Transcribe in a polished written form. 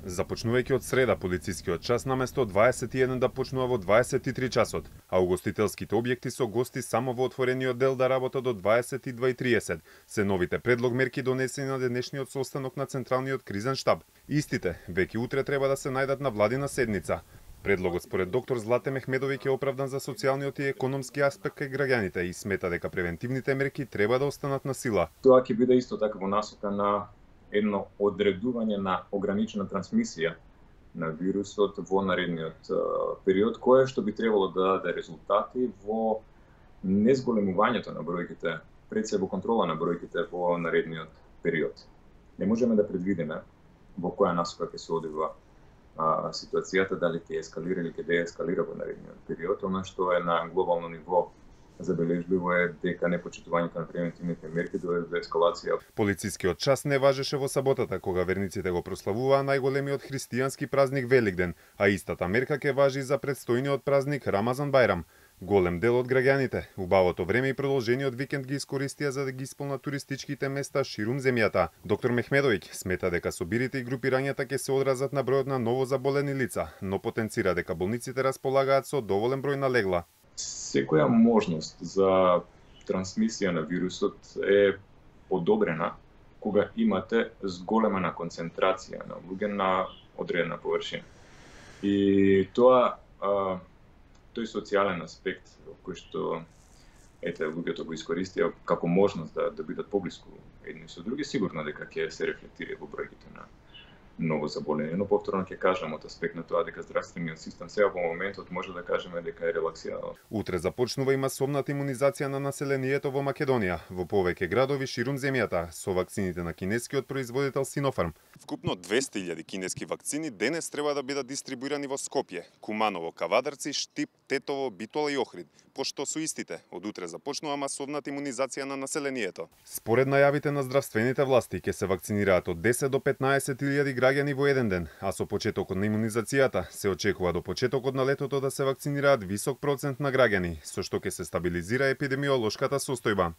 Започнувајќи од среда, полицискиот час наместо 21 да почнува во 23 часот, а угостителските објекти со гости само во отворениот дел да работат до 22:30, се новите предлог мерки донесени на денешниот состанок на Централниот кризен штаб. Истите, веќе утре треба да се најдат на владина седница. Предлогот според доктор Злате Мехмедовиќ е оправдан за социјалниот и економски аспект кај граѓаните и смета дека превентивните мерки треба да останат на сила. Тоа ќе биде исто така во насока на едно одредување на ограничена трансмисија на вирусот во наредниот период, кое што би требало да даде резултати во незголемувањето на бројките, пред се во контрола на бројките во наредниот период. Не можеме да предвидиме во која насока ќе се одвива ситуацијата, дали ќе ескалира или ќе деескалира во наредниот период. Она што е на глобално ниво забележливо е дека непочитувањето на превентивните мерки доведе до ескалација. Полицискиот час не важеше во саботата, кога верниците го прославуваа најголемиот христијански празник Великден, а истата мерка ќе важи за предстојниот празник Рамазан Бајрам. Голем дел од граѓаните, убавото време и продолжениот викенд ги искористија за да ги исполнат туристичките места ширум земјата. Доктор Мехмедовиќ смета дека собирите и групирањата ќе се одразат на бројот на новозаболени лица, но потенцира дека болниците располагаат со доволен број на легла. Секоја можност за трансмисија на вирусот е подобрена кога имате зголемена концентрација на луѓе на одредена површина. И тоа тој социјален аспект кој што луѓето го искористија како можност да бидат поблиску едни со други, сигурно дека ќе се рефлектира во бројките на ново заболени, но повторно ќе кажам од аспект на тоа дека здравствениот систем сега во моментот може да кажеме дека е релаксиран. Утре започнува и масовната имунизација на населението во Македонија, во повеќе градови ширум земјата, со вакцините на кинескиот производител Синофарм. Вкупно 200.000 кинески вакцини денес треба да бидат дистрибуирани во Скопје, Куманово, Кавадарци, Штип, Тетово, Битола и Охрид, пошто со истите од утре започнува масовната имунизација на населението. Според најавите на здравствените власти ќе се вакцинираат од 10 до 15.000 граѓани во еден ден, а со почетокот на имунизацијата се очекува до почетокот на летото да се вакцинираат висок процент на граѓани, со што ќе се стабилизира епидемиолошката состојба.